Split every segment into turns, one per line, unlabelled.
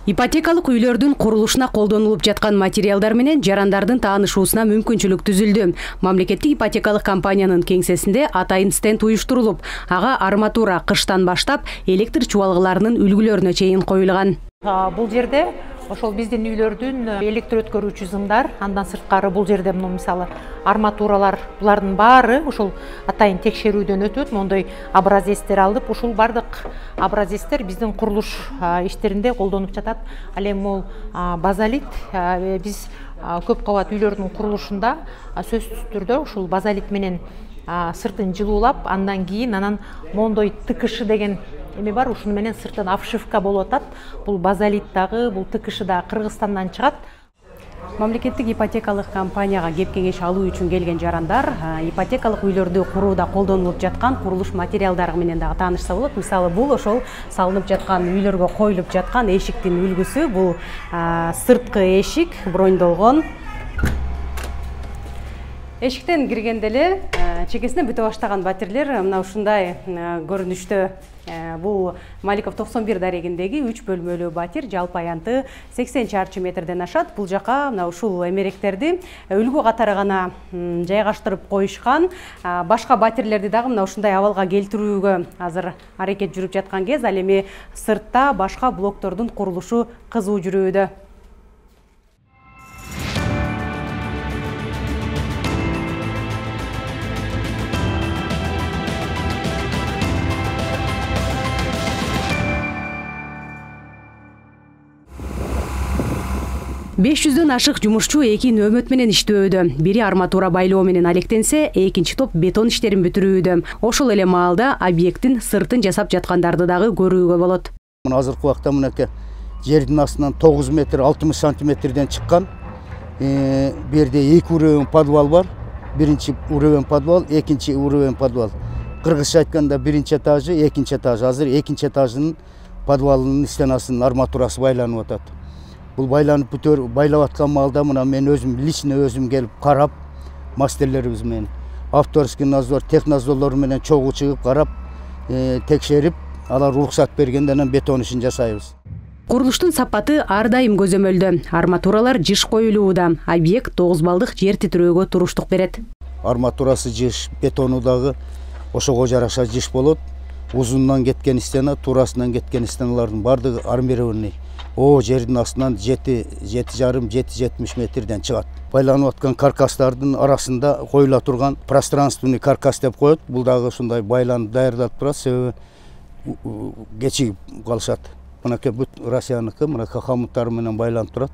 Ипотекалык үйлөрдүн курулушуна колдонулуп жаткан материалдар менен жарандардын таанышуусуна мүмкүнчүлүк түзүлдү. Мамлекеттик ипотекалык компаниянын кеңсесинде атайын стенд уюштурулуп, ага арматура кыштан баштап электр чубалгыларынын үлгүлөрүнө чейин коюлган.
Бул жерде ошол биздин үйлөрдүн электр өткөрүүчү зымдар, андан сырткары бул жерде мисалы арматуралар, булардын баары ошол атайын текшерүүдөн өтөт. Мондой образецтер алып, ушул бардык образецтер биздин курулуш иштеринде колдонуп жатат. Ал эми бул базалит биз көп кабат үйлөрдүн курулушунда сөзсүз түрдө ушул базалит менен сыртын жылуулап, андан кийин анан мондой тыкышы деген эме бар, ушуну менен сыртын обшивка болуп атат. Бул базалит дагы, бул тыкышы да Кыргызстандан чыгат.
Мамлекеттик ипотекалык компанияга кеп кеңеш алуу үчүн келген жарандар ипотекалык үйлөрдү курууда колдонулуп жаткан курулуш материалдары менен дагы таанышса болот. Мисалы, бул ошол салынып жаткан үйлөргө коюлуп жаткан эшиктин үлгүсү. Бул сырткы эшик, брондолгон. Эшиктен киргенде эле чекесине бүтө баштаган батирлер мына ушундай көрүнүштө. Бул Маликов 91 дарегиндеги 3 бөлмөлүү батир, жалпы аянты 80 чарчы метрден ашат. Бул жака мына ушул эмеректерди үлгү катары гана жайгаштырып коюшкан. Башка батирлерди дагы мына ушундай абалга келтирүүгө азыр аракет жүрүп жаткан кез. Ал эми сыртта башка блоктордун курулушу кызуу жүрүүдө. 500дөн ашык жумушчу 2 нөөмөт менен иштөөдө. Бири арматура байлоо менен алектенсе, экинчи топ бетон иштерин бүтүрүүдө. Ошол эле маалда объекттин сыртын жасап жаткандарды дагы көрүүгө болот.
Азыркы убакта мынакей жердин астынан 9 метр 60 сантиметрден чыккан. Бу жерде 2 уровень подвал бар. Биринчи уровень подвал, экинчи уровень подвал. Кыргызча айтканда биринчи этажы, экинчи этажы. Азыр экинчи этажынын подвалынын стенасынын арматурасы байланып атат. Бул байланып байлап аткан маалда мына мен өзүм лично өзүм келип карап, мастерлерибиз менен авторский надзор, технадзорлор менен чогуу чыгып карап, текшерип, алар уруксат бергенде анан бетон ишин жасайбыз.
Курулуштун сапаты ар дайым көзөмөлдө. Арматуралар жыш коюлууда. Объект 9 балдык жер титирөөгө туруштук берет.
Арматурасы жыш, бетону дагы ошого жараша жыш болот. Узунунан кеткен стена, турасынан кеткен стеналардын бардыгы армированный. Жердин астынан 7,5-7,70 метрден чыгат. Байланып аткан каркастардын арасында коюла турган пространственный каркас деп коет. Бул дагы ушундай байланып даярдалып турат, себеби кечигип калышат. Мынакей бүт Россияныкы, мынакей хамуттары менен байланып турат.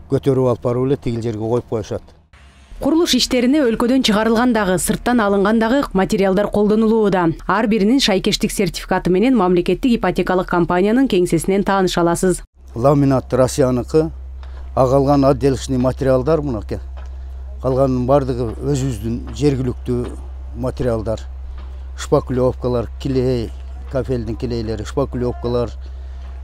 Көтөрүп алып барып эле тигил жерге коюп коюшат.
Курулуш иштерине өлкөдөн чыгарылган дагы, сырттан алынган дагы материалдар колдонулууда. Ар биринин шайкештик сертификаты менен мамлекеттик ипотекалык компаниянын кеңсесинен тааныша аласыз.
Ламинат Россияныкы, калган отделочный материалдар мынакей. Калганын бардыгы өзүбүздүн жергиликтүү материалдар. Шпаклевкалар, клей, кафелдин клейлери, шпаклевкалар,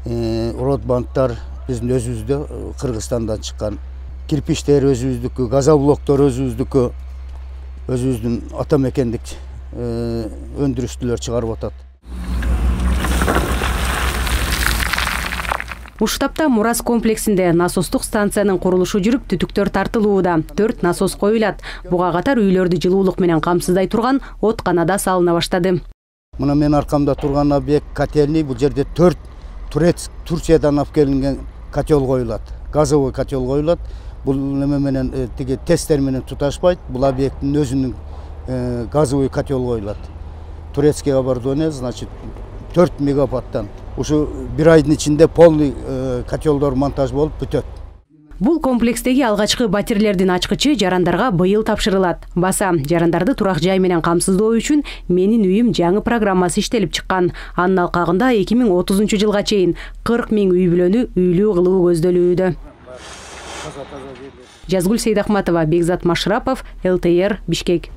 ротбандтар биздин өзүбүздө Кыргызстандан чыккан. Кирпичтер өзүбүздүкү, газоблоктор өзүбүздүкү, өзүбүздүн ата мекендик өндүрүштүлөр чыгарып атат.
Уштапта Мурас комплексинде насостук станциянын курулушу жүрүп, түтүктөр тартылууда. 4 насос коюлат. Буга катар үйлөрдү жылуулук менен камсыздай турган откана да салына баштады.
Мына мен аркамда турган объект котельный. Бул жерде 4 Турциядан алып келинген котел коюлат. Газовый котел коюлат. Бул неме менен тиги тесттер менен туташпайт. Бул объекттин өзүнүн газовый котел коюлат. Турецкий оборудование, значит, 4 мегаваттан. Ушу бир айдын ичинде полный котелдор монтаж болуп бүтөт.
Бул комплекстеги алгачкы батирлердин ачкычы жарандарга быйыл тапшырылат. Баса, жарандарды турак жай менен камсыздоо үчүн Менин үйүм жаңы программасы иштелип чыккан. Анын алкагында 2030 жылга чейин 40 000 үй бүлөнү үйлүү кылуу көздөлүүдө. Жазгүл Сейдахматова, Бекзат Машрапов, ЛТР, Бишкек.